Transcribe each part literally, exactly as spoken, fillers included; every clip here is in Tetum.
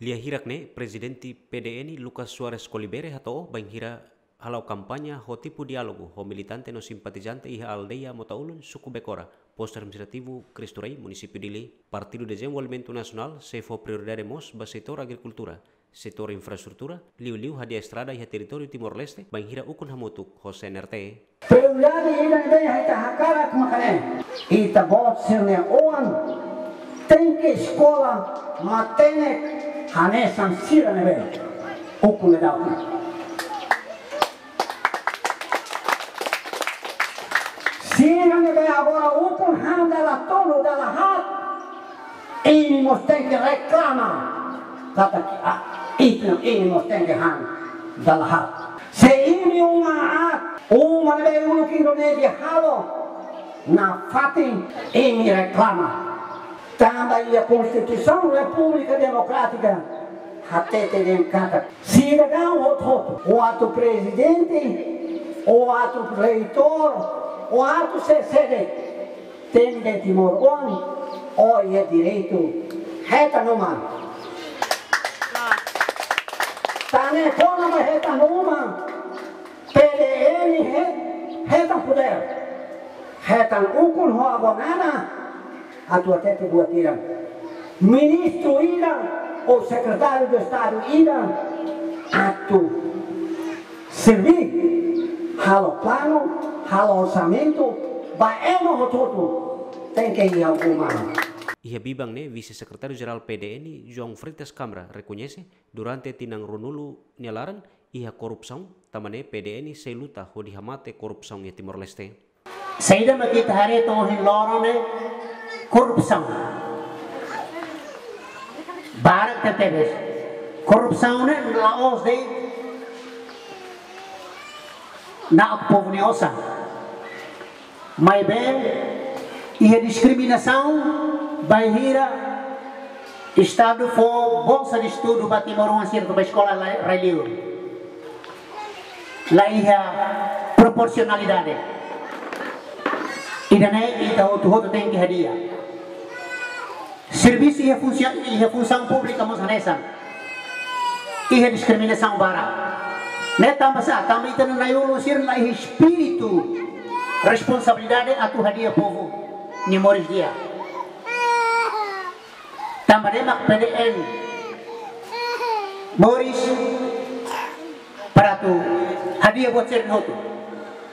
Lia hirak ne'e, Prezidente P D N, Lucas Soares Colibere, hato'o bainhira hala'o kampaña ho tipu diálogu ho militante no simpatizante iha aldeia Motaulun, suku Becora. Postu Administrativu Cristo Rei, Munisípiu Dili. Partidu Dezenvolvimentu Nasionál sei fó prioridade mós ba setór agrikultura, setór infraestrutura, liuliu hadi'a estrada iha territóriu Timor-Leste, bainhira ukun hamutuk ho C N R T. Prioridade ida ne'ebé ita hakarak maka ne'e: ita-boot sira-nia oan tenke eskola matenek hanesan sira ne'ebé ukun daudaun. Sira ne'ebé agora ukun han dala tolu, dala haat, imi mós tenke reklama katak, ah, ita, imi mós tenke han dala haat. Se imi uma aat, uma ne'ebé uluk Indonézia halo nafatin, imi reklama. Tanba iha Konstituisaun Repúblika Demokrátika hatete dehan katak sidadaun hotu-hotu, ou atu prezidente, ou atu reitór, ou atu sé-sé de'it, temi de'it timoroan, ó iha direitu hetan uma. Tan ne'e kona-ba hetan uma, P D N he-, hetan podér, hetan ukun ho avó Nana atu hatete buat ida. Ministru ida ou Sekretáriu de Estadu ida atu serbí, halo planu, halo orsamentu ba ema hotu-hotu, tenke iha uma. Iha biban ne'e, Vise-Sekretáriu Jerál P D N, João Freitas Câmara, rekoñese, durante tinan ruanulu nia laran, iha korrupsaun, tanba ne'e P D N sei luta hodi hamate korrupsaun iha Timor-Leste. Saida mak ita haree to'o ohin loron ne'e? Korrupsaun. Barak tebetebes. Korrupsaun ne'e la'ós de'it na'ok povu nia osan. Maibé iha diskriminasaun bainhira Estadu fó bolsa de estudu ba timoroan sira atu bá eskola la, rai-liur. La iha proporsionalidade. Ida-ne'e ita hotu-hotu tenke hadi'a. Servisu iha funsi-, iha funsaun públika mós hanesan. Iha diskriminasaun barak. Ne'e tanba sá? Tanba ita-nia na'i-ulun sira la iha espíritu responsabilidade atu hadi'a povu nia moris di'ak. Tanba ne'e mak P D N moris para atu hadi'a buat sira hotu.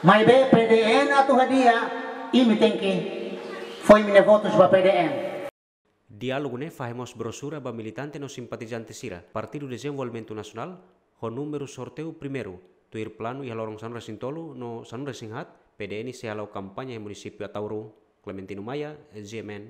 Maibé P D N atu hadi'a, imi tenke fó imi-nia votus ba P D N. Diálogu ne'e fahe mós brosura ba militante no simpatizante sira Partidu Dezenvolvimentu Nasionál, ho númeru sorteiu primeiru, tuir planu iha loron sanulu-resin-tolu no sanulu-resin-haat, P D N sei hala'o kampaña iha munisípiu Ataúro. Clementino Maia, G M N.